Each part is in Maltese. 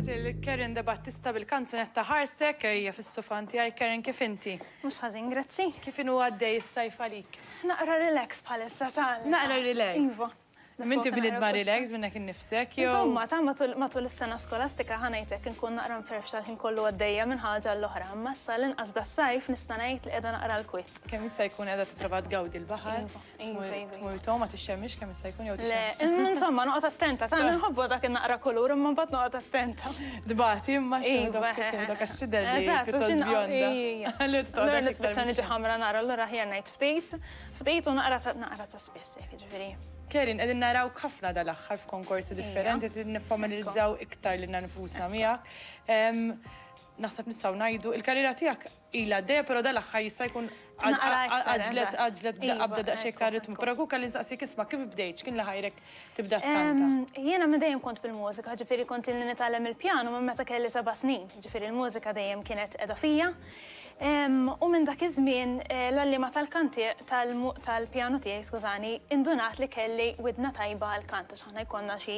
Kienet il-Karen De Battista bil-kanzunetta Ħarstek, hija fis-sufan tiegħi. Karen, kif inti? Mhux ħażin, grazzi. Kif inhu għaddej is-sajf għalik? Naqra relax bħalissa ta' Naqra relax. Iva. Minti bniedma relax minnek innifsek jew? Insomma, ta' matul is-sena skolastika ħa ngħidlek inkun naqra mferfxa l-ħin kollu għaddejja minn ħaġa għall-oħra, imma issa l-inqas das-sajf nista' ngħid li qiegħda naqra l-kwiet. Kemm jista' jkun qiegħda tipprova tgawdi l-baħar? Iva, iva. Tmur tgħum ma tixxemmix kemm jista' jkun jew tixxemm? Le, insomma noqgħod attenta, ta' nħobbu dak in-naqra kulur imma mbagħad noqgħod attenta. Tbati imma x'tieħdok għax tidher li pjuttost bjonda. Allura nispiċċa niġi ħamra nara, allura aħjar ngħid ftit, ftit u naqra ta' spiss. Hekk, ġifieri. Kerin, qegħdin narawk ħafna dal-aħħar f'konkorsi differenti, qed niffamiljarizzaw iktar lilna nfusna miegħek. Naħseb nistgħu ngħidu, il-karriera tiegħek ilha għaddejja, però dal-aħħar jista' jkun għaġġlet għaġġlet qabda daqsxejn iktar ritmu. Però kieku kelli nsaqsik isma' kif bdejt, x'kien li ħajrek tibda tkanta? Jiena minn dejjem kont fil-mużika, ġifieri kont ilni nitgħallem il-pjanu minn meta kelli seba' snin, ġifieri l-mużika dejjem kienet qiegħda fija. U minn dak iż-żmien l-għalliema tal-kant tal-pjanu tiegħi, skużani, indunat li kelli widna tajba għall-kant għax aħna jkollna xi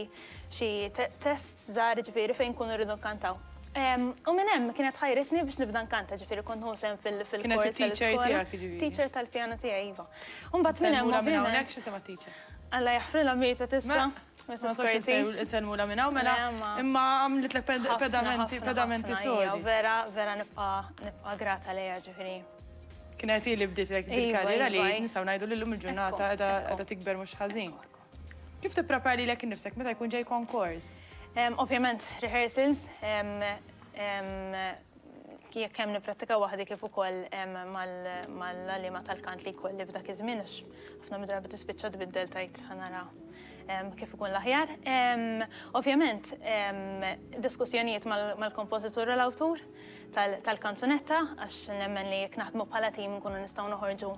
xi tests żgħar ġifieri fejn nkunu rridu nkantaw. U minn hemm kienet ħajritni biex nibda nkanta, ġifieri kont nieħu sehem fil-kors. Kienet it-teacher tiegħek jiġifieri? Teacher tal-pjanu tiegħi, iva. U mbagħad minn hemm. Insellmulha minn hawnhekk, x'isimha t-teacher? Alla jaħfrilha mietet issa. Mrs. Curtis. Insellmulha minn hawn mela. Imma għamlitlek pedamenti, pedamenti sodi. Vera, vera nibqa' nibqa' grata lejha ġifieri. Kienet hi li bdietlek dil-karriera li nistgħu ngħidu li llum il-ġurnata qiegħda tikber mhux ħażin. Kif tipprepara lilek innifsek meta jkun ġej konkors? Ovvjament rehearsals, jekk hemm nipprattika waħdi kif ukoll mal-għalliema tal-kant li jkolli f'dak iż-żmien għax ħafna mid-drabi tispiċċa tbiddel tgħid ħa nara kif ikun l-aħjar. Ovvjament diskussjonijiet mal-kompożitur u l-awtur tal-kanzunetta għax nemmen li jekk naħdmu bħala tim nkunu nistgħu noħorġu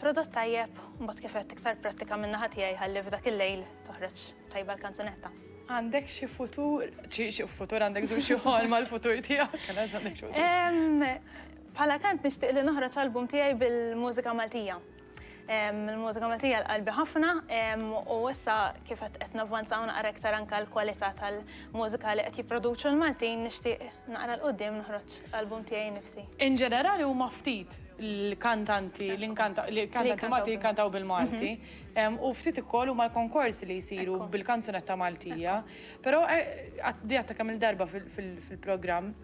prodott tajjeb, mbagħad kif għedt iktar prattika min-naħa tiegħi ħalli f'dak il-lejl toħroġ tajba l-kanzunetta. Għandek xi futur, xi futur għandek żgur xi ħolma l-futur tiegħek, għandek xi futur. Bħala kant nixtieq li noħroġ album tiegħi bil-mużika Maltija. Il-mużika Maltija l-qalbi ħafna u issa kif qed navvanzaw naqra iktar anke l-kwalità tal-mużika li qed jipproduċu l-Maltin nixtieq naqra 'l quddiem noħroġ album tiegħi nnifsi. In ġenerali huma ftit l-kantanti li kantanti Malti jkantaw bil-Malti. U ftit ukoll huma l-konkorsi li jsiru bil-kanzunetta Maltija. Però di għadtha kemm-il darba fil-programm.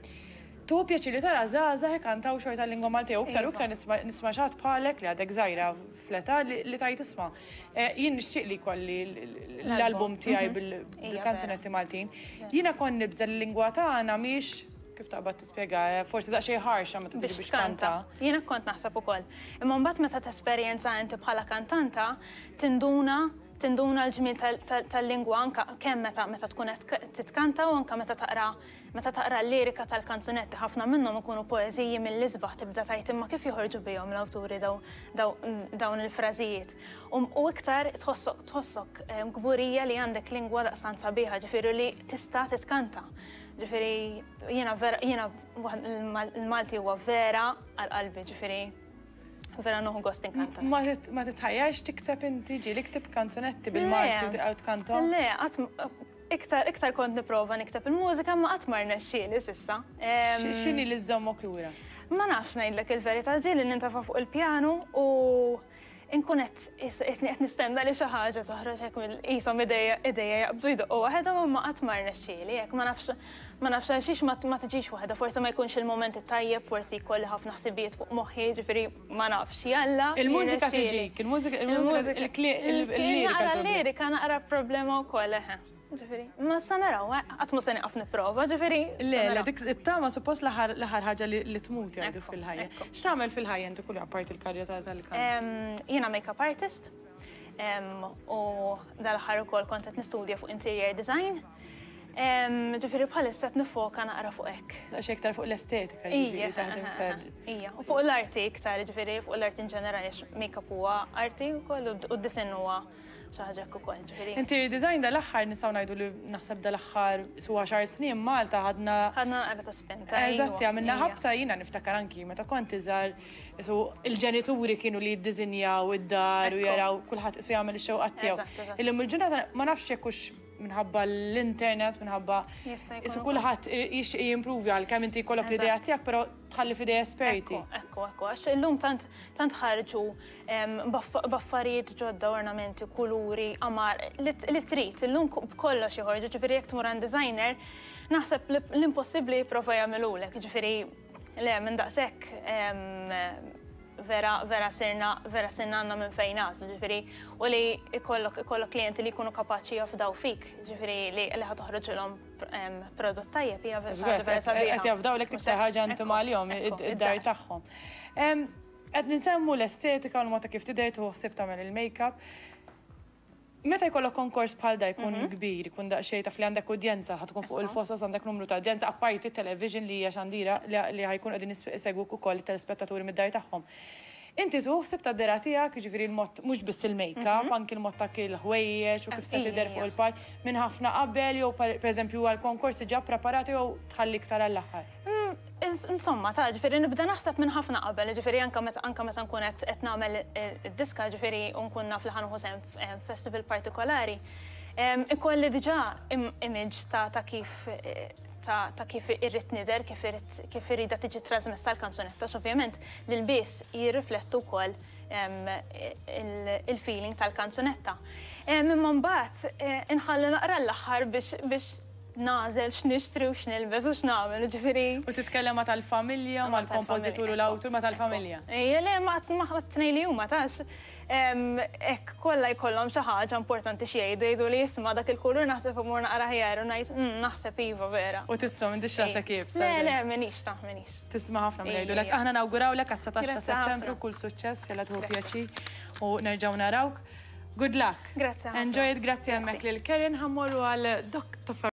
Tieħu pjaċir li tara żgħażagħ ikantaw xorta l-lingwa Maltija u iktar u iktar nisma' nisma' xi ħadd bħalek li għadek żgħira fl-età li tgħid isma' jien nixtieq li jkolli l-album tiegħi bil-kanzunetti Maltin. Jiena kont nibża' li l-lingwa tagħna mhijiex kif taqbad tispjega, forsi daqsxejn ħarxa meta tiġi biex tkanta. Jiena kont naħseb ukoll. Imma mbagħad meta tesperjenza inti bħala kantanta tinduna tinduna l-ġmiel tal-lingwa anke kemm meta meta tkun qed titkanta u anke meta taqra Meta taqra l-lirika tal-kanzunetti ħafna minnhom ikunu poeżiji mill-isbaħ tibda tgħid imma kif joħorġu bihom l-awturi dawn il-frażijiet. U iktar tħossok tħossok kburija li għandek lingwa daqstant sabiħa ġifieri li tista' titkanta. Ġifieri jiena vera jiena l-Malti huwa vera għal qalbi ġifieri vera nieħu gost inkanta. Ma titħajjarx tikteb inti ġieli ktibt kanzunetti bil-Malti u tkanthom? Le, qatt Iktar, iktar kont nipprova nikteb il-mużika imma qatt ma rnexxieli s'issa. X'inhi li żżommok lura? Ma nafx ngħidlek il-verità, ġieli nintefa' fuq il-pjanu u nkun qed qisni qed nistenna li xi ħaġa toħroġ hekk mill qishom idejja idejja jaqbdu jdoqqu waħedhom imma qatt ma rnexxieli hekk ma nafx ma nafx għalxiex ma ma tiġix waħedha, forsi ma jkunx il-mument it-tajjeb, forsi jkolli ħafna ħsibijiet fuq moħħi, jiġifieri ma nafx, jalla. Il-mużika tiġik, il-mużika, il-mużika, il-lirika. Naqra l-lirika naqra problema wkoll, eħe. Ġifieri, ma sa naraw, eh, qatt ma se nieqaf nipprova, ġifieri. Le, le, dik it-tama suppost l-aħħar ħaġa li tmut jgħidu fil-ħajja. X'tagħmel fil-ħajja inti kull apparti il-karriera tal-kant? Jiena make-up artist u dal-aħħar ukoll kont qed nistudja fuq interior design. Ġifieri bħalissa qed nifoka naqra fuq hekk. Daqsxejn iktar fuq l-estetika, jiġifieri taħdem iktar. Ija, u fuq l-arti iktar, ġifieri fuq l-arti in ġenerali għax make-up huwa arti wkoll u d-disinn huwa xi ħaġa hekk ukoll, ġifieri. Interior design dal-aħħar nistgħu ngħidu li naħseb dal-aħħar su għaxar snin Malta ħadna. Ħadna naqra ta' spinta. Eżatt, għamilna ħabta jiena niftakar anki meta kont iżgħar isu il-ġenituri kienu li jiddisinjaw id-dar u jaraw kulħadd isu jagħmel ix-xewqat tiegħu. Illum il-ġurnata ma nafx jekk hux. minħabba l-internet, minħabba isu kulħadd jixtieq jimprovja għalkemm inti jkollok l-idea tiegħek, però tħalli f'idej esperti. Ekku, ekku, għax illum tant tant ħarġu b'affarijiet ġodda, ornamenti, kuluri, qamar, li trid, illum b'kollox joħorġu, ġifieri jekk tmur għand designer, naħseb l-impossibbli jipprova jagħmilulek, ġifieri le minn daqshekk vera vera sirna vera sirna għandna minn fejn nagħżlu, ġifieri u li ikollok ikollok klijenti li jkunu kapaċi jafdaw fik, ġifieri li li ħa toħroġilhom prodott tajjeb hija vera sabiħa. Qed jafdawlek l-iktar ħaġa intima għalihom, id-dar tagħhom. Qed ninsemmu l-estetika u l-mod ta' kif tidher tieħu ħsieb tagħmel il-makeup. Meta jkollok konkors bħal da jkun kbir, jkun daqsxejn taf li għandek udjenza, ħa tkun fuq il-fosos għandek numru ta' udjenza, apparti t-television li hija xandira li ħa jkunu qegħdin isegwuk ukoll it-telespettaturi mid-dar tagħhom. Inti tieħu ħsieb tad-dehra tiegħek, jiġifieri l-mod mhux biss il-makeup, anki l-mod ta' kif il-ħwejjeġ u kif se tidher fuq il-palk minn ħafna qabel jew pereżempju għall-konkors diġà ppreparata jew tħalli iktar għall-aħħar? Insomma, ta' ġifieri nibda naħseb minn ħafna qabel, ġifieri anke meta anke meta nkun qed qed nagħmel id-diska, ġifieri u nkun naf li ħa nieħu sehem f'festival partikolari, ikolli diġà image ta' ta' kif ta' ta' kif irrid nidher, kif irrid kif irridha tiġi trasmessa l-kanzunetta, għax ovvjament l-ilbies jirriflettu wkoll il-feeling tal-kanzunetta. Imma mbagħad inħalli naqra l-aħħar biex biex nagħżel x'nixtri u x'nilbes u x'nagħmel, ġifieri. U titkellem ma' tal-familja, mal-kompożitur u l-awtur, ma' tal-familja? Ejja, le, ma' t-tnejn li huma tax. Hekk kollha jkollhom xi ħaġa importanti xi jgħidu, jgħidu li isma' dak il-kulur naħseb imur naqra aħjar u ngħid naħseb iva vera. U tisma' m'intix rasek iebsa. Le, le, m'iniex ta' m'iniex. Tisma' ħafna milli jgħidulek. Aħna nawgurawlek għat-19 ta' Settembru kull suċċess, jalla tieħu pjaċir u nerġgħu narawk. Good luck. Grazzi ħafna. Enjoy it, grazzi hemmhekk lil Karen, ħa mmorru għal Dr.